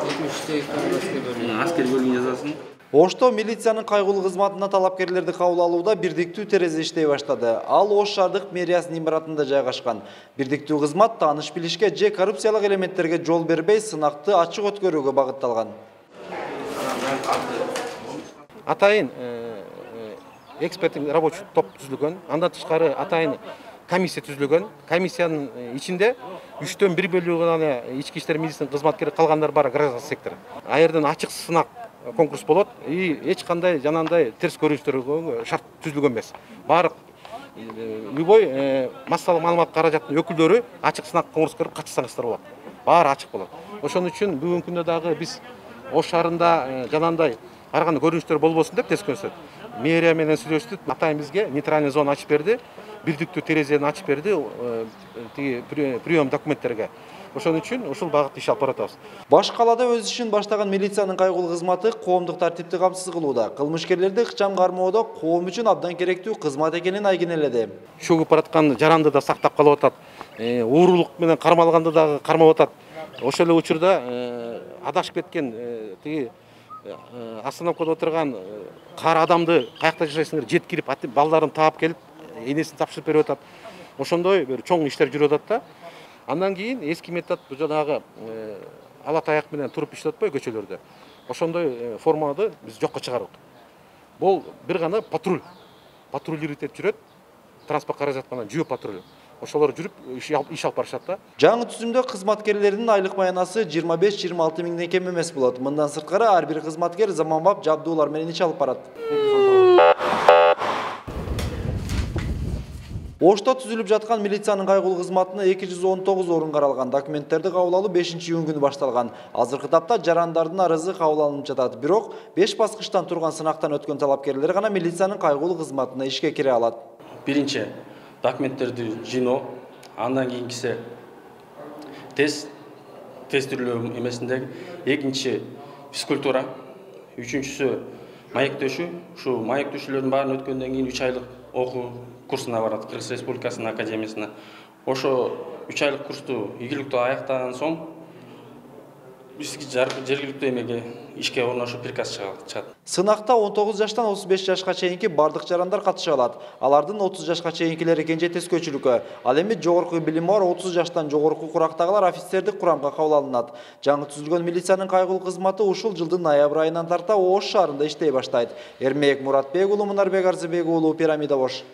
Аскер бөлүмүн жазасын. Ошто милициянын кайгылуу кызматына талапкерлерди кабыл алууда бирдиктүү терезе иштей баштады. Ал Ош шаардык мэриясынын имаратында жайгашкан. Бирдиктүү кызмат тааныш билишке же коррупциялык элементтерге жол бербей, сынакты ачык өткөрүүгө багытталган. Атайын эксперттик рабочий топ түзүлгөн. Андан тышкары атайын комиссия түзүлгөн. Комиссиянын ичинде 3/1 бөлүгү гана ички иштер министринин кызматкери, калгандар баары гражданский сектор. А жерден ачык сынак конкурс болот и эч кандай жанагындай терс көрүнүштөргө шарт түзүлгөн эмес. Баары любой массалык маалымат каражаттын өкүлдөрү ачык сынак конкурска кирип катышсаңыздар болот. Баары ачык болот. Ошон үчүн бүгүнкү күндө дагы биз Ош шаарында жанагындай ар кандай көрүнүштөр болбосун деп тескөнсөт. Мэрия менен сүйлөштүк. Атайын бизге нейтральный зона ачып берди. Бирдиктүү терезени ачып берди прием документтерге. Ошон үчүн ушул багытта иш алып баратабыз. Баш калаада өз ишин баштаган милициянын кайгылуу кызматы коомдук тартипти камсыз кылууда. Кылмышкерлерди ыкчам кармоодо коом үчүн абдан керектүү кызмат экенин айгинеледи. Чөгүп бараткан жаранды да сактап калып атат. Уурулук менен кармалганды дагы кармап атат. Ошол эле учурда адашып кеткен остановкада отурган кара адамды каякта жашайсыңдар жеткирип балдарын таап келип энесин тапшырып берип атат. Ошондой бир чоң иштер жүрүп атат да. Андан кийин эски метод жанагы ала таяк менен туруп иштеп атпайбы көчөлөрдө. Ошондой форманы биз жокко чыгардык. Бул бир гана патруль. Патрулировать этип жүрөт. Транспорт каражатынан жөө патруль. Ошолор жүрүп иш алып барышат да. Жаңы түзүмдө кызматкерлердин айлык маянасы 25-26 миңден кем эмес болот. Мындан сырткары ар бир кызматкер заманбап жабдуулар менен иш алып барат. Ошто түзүлүп жаткан милициянын кайгылуу кызматына 219 орун каралган. Документтерди кабыл алуу 5-июнь күнү башталган. Азыркы тапта жарандардын арызы кабыл алынып жатат. Бирок 5 баскычтан турган сынактан өткөн талапкерлер гана милициянын кайгылуу кызматына ишке кире алат. Биринчи документтерди жыйноо, андан кийинкиси тестирлөө эмесиндеги, экинчи физкультура, үчүнчүсү маектөшүү. Ушу маектөшүүлөрдүн баарын өткөндөн кийин 3 айлык окуу курсуна барат Кыргыз Республикасынын академиясына. Ошо 3 айлык курсту ийгиликтүү аяктаган соң бизге жергиликтүү эмеге ишке орношуу приказ чыгат. Сынакта 19 жаштан 35 жашка чейинки бардык жарандар катыша алат. Алардын 30 жашка чейинкилери кенже тескөөчүлүккө, ал эми жогорку билими бар 30 жаштан жогорку курактагылар офицердик курамга кабыл алынат. Жаңы түзүлгөн милициянын кайгылуу кызматы ушул жылдын ноябрь айынан тарта Ош шаарында иштей баштайт. Эрмек Муратбек уулу, Мунарбек Арзыбек уулу, Пирамида Ош.